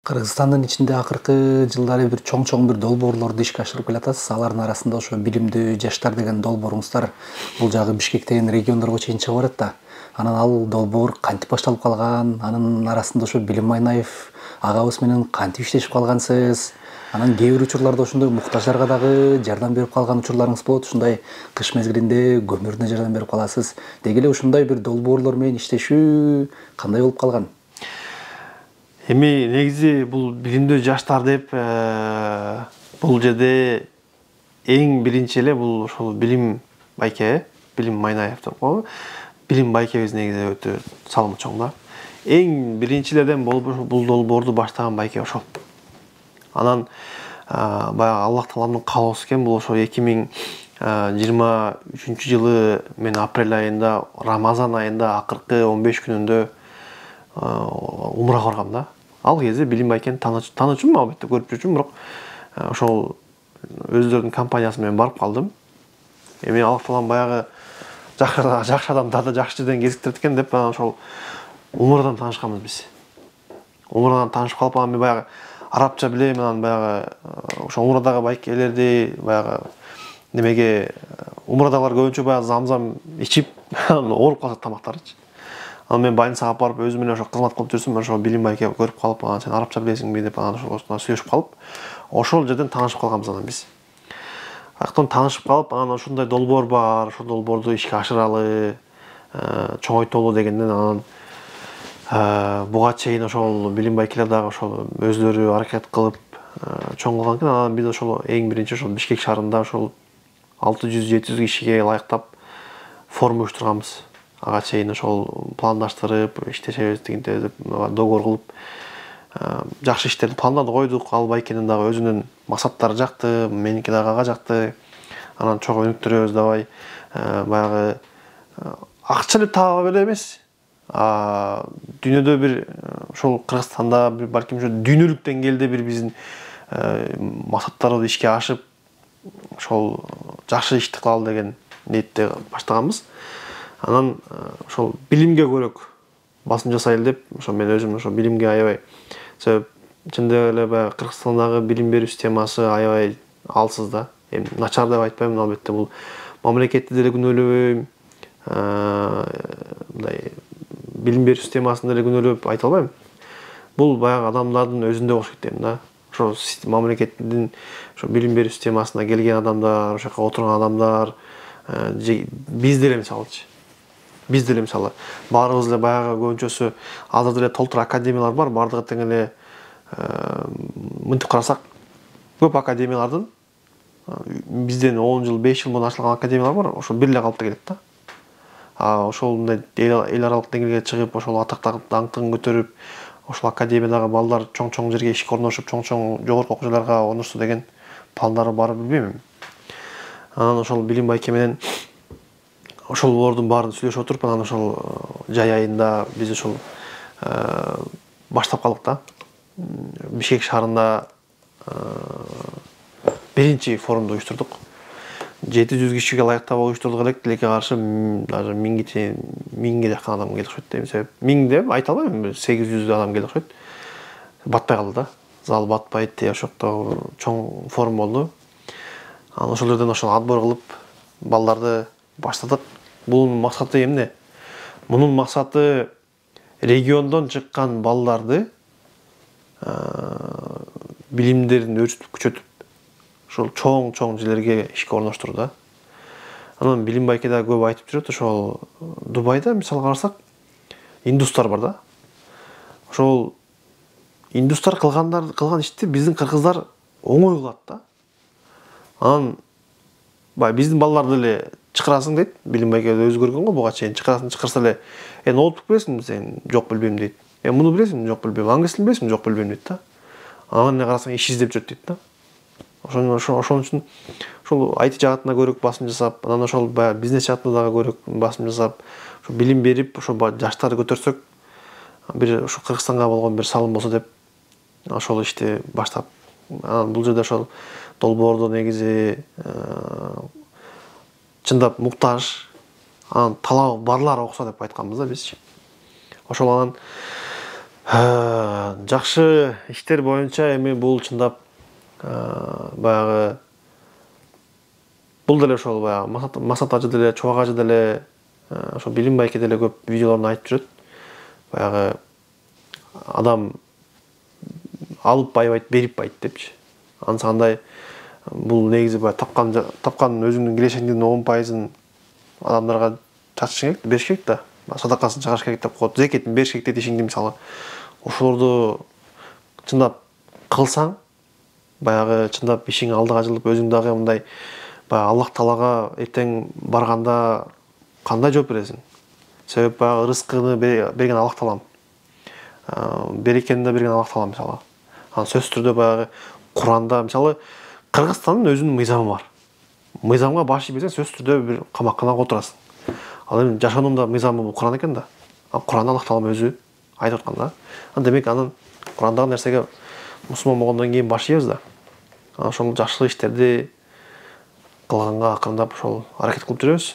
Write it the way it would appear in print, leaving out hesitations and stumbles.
Кыргызстандын ичинде акыркы жылдары бир чоң бир долбоорлорду ишке ашырып келатасыз. Алардын арасында ошо билимдүү жаштар деген долбооруңуздар бул жагы Бишкектен региондорго чейин чыгып барат да. Анан ал долбоор кантип башталып калган? Анын арасында ошо Билим Майнаев агабыз менен кантип иштешип калгансыз? Анан кээ бир учурларда ошондой муктаждарга дагы жардам берип калган учурларыңыз болот. Ушундай кыш мезгилинде көмүрүнө жардам берип каласыз. Деги эле ушундай бир долбоорлор менен иштешүү кандай болуп калган? Эми негизи бул билимдүү жаштар деп бул жерде эң биринчи эле бул ошол Билим байке, Билим Майнаев деп коебу. Билим байкебиз негизи өтө салымы чоң да. Эң биринчилерден болуп бул долбоорду баштаган байке ошол. Анан баягы Аллах Тааланын каалоосу экен, бул ошо 2023-жылы мен апрель айында, Рамазан айында акыркы 15 күнүндө умрага баргам да. Ал кезде Билим байкени таанычумун, албетте көрүп жүрчүмүн, бирок ошол өздөрүнүн компаниясы менен барып калдым. Эми Аллах Таалам баягы жакшы адамдарды жакшы жерден кезиктирет экен деп анан ошол умрадан таанышканбыз биз. Умрадан таанышып калып, анан мен баягы арабча билем, анан баягы ошо умрадагы байкелерди баягы немеге умрадагылар көбүнчө баягы замзам ичип ооруп калышат тамактарычы. Анан мен больницага алып барып өзүм менен ошо кызмат кылып жүрсөм, ошо Билим байке көрүп калып, анан сен арабча билесиңби деп анан ошол сүйлөшүп калып, ошол жерден таанышып калганбыз анан биз. Аяктан таанышып калып, анан ушундай долбоор бар, ошол долбоорду ишке ашыралы, чоңойтолу дегенден анан буга чейин ошол Билим байкелер дагы ошол өзлөрү аракет кылып чоң кылган экен. Анан биз ошол эң биринчи ошол Бишкек шаарында ошол 600-700 кишиге ылайыктап форум уюштурганбыз. Ага чейин ошол пландаштырып, иштешебиз дегенде деп договор кылып жакшы иштерди пландарды койдук. Ал байкенин дагы өзүнүн максаттары жакты, меники дагы ага жакты. Анан чогуу өнүктүрөбүз давай. Баягы акча деп таба эле эмес. Дүйнөдө бир ошол Кыргызстанда бир балким ошо дүйнөлүк деңгээлде бир биздин максаттарыбызды ишке ашып, ошол жакшы ишти кылалы деген ниетте баштаганбыз. Анан ошол билимге көрөк басым жасайлы деп, ошо мен өзүм ошо билимге аябай себеп чындап эле баягы Кыргызстандагы билим берүү системасы аябай алсыз да. Эми начар деп айтпайм, албетте бул мамлекетти деле күнөөлөбөйм. Мындай билим берүү системасын деле күнөөлөп айта албайм. Бул баягы адамдардын өзүндө болуш керек дейм да. Ошо мамлекеттин ошо билим берүү системасына келген адамдар, ошол жака отурган адамдар, биз деле мисалычы. Биз деле мисалы баарыбыз эле баягы көбүнчөсү азыр деле толтур академиялар бар, бардыгы тең эле мынтип карасак көп академиялардын бизден 10 жыл, 5 жыл мурун ачылган академиялар бар, ошо бир эле калып келет да. Ошол мындай эл аралык деңгээлге чыгып, ошол атактагы даңкын көтөрүп, ошол академиядагы балдар чоң жерге ишке орношуп, чоң жогорку окуу жайларга орношсу деген пландары бар билбейм. Анан ошол Билим байке менен ошолордун баарын сүйлөшүп отуруп, анан ошол жай айында биз ошол баштап калдык да. Бишкек шаарында биринчи форумду уюштурдук. 700 кишиге ылайыктап уюштурдук элек, тилекке каршы даже 1000ге жакын адам келди окшойт дейм. Себеп 1000 деп айта албайм, 800 адам келди окшойт. Батпай калды да. Зал батпайт, ошокто чоң форум болду. Анан ошол жерден ошол отбор кылып балдарды баштадык. Бунун максаты эмне? Мунун максаты региондон чыккан балдарды билимдерин өрчүтүп, күчөтүп, ошол чоң жерлерге ишке орноштуруу да. Анан Билим байке да көп айтып жүрөт, ошол Дубайда мисалга карасак, индустар бар да. Ошол индустар кылган ишти биздин кыргыздар оңой кылат да. Анан биздин балдарды эле чакырасың дейт. Билим байке өзү көргөн го буга чейин. Чакырса эле, ноутбук билесиңби сен? Жок, билбейм дейт. Муну билесиңби? Жок, билбейм. Англис тилин билесиңби? Жок, билбейм дейт да. Анан эмне карасаң, иш издеп жүрөт дейт да. Ошон үчүн ошол IT жаатына көрөк басым жасап, анан ошол баягы бизнес жаатына дагы көрөк басым жасап, ошо билим берип, ошо жаштарды көтөрсөк, бир ошо Кыргызстанга болгон бир салым болсо деп ошол ишти баштап. Анан бул жерде ошол долбоорду негизи чындап муктаж, анан талабы барлар окуса деп айтканбыз да биз. Ошол анан Жакшы иштер боюнча эми бул чындап баягы бул деле ошол баягы Масат ажы деле, Чубак ажы деле, ошо Билим байке деле көп видеолорунда айтып жүрөт. Баягы адам алып байбайт, берип байыт депчи. Анысы кандай бул негизи баягы тапкан өзүңдүн кирешеңдин 10%-ын адамдарга чачышың керек, бериш керек да. Садакасын чыгарыш керек деп коет. Зекетин бериш керек дейт ишиңди мисалы. Ошолорду чындап кылсаң, баягы чындап ишиң алдыга жылып, өзүң дагы мындай баягы Аллах Таалага эртең барганда кандай жооп бересиң? Себеп баягы рызкыны берген Аллах Таалам. Берекени да берген Аллах Таалам мисалы. Анан сөзсүз түрдө баягы Куранда мисалы Кыргызстандын өзүнүн мыйзамы бар. Мыйзамга баш ийбесең сөзсүз түрдө бир камакканага отурасың. Ал эми жашоонун да мыйзамы бул Куран экен да. Куранда Аллах Таалам өзү айтып аткан да. Демек анын Курандагы нерсеге мусулман болгондон кийин баш ийебиз да. Ошол жакшы иштерди кылганга акырындап ошол аракет кылып жүрөбүз.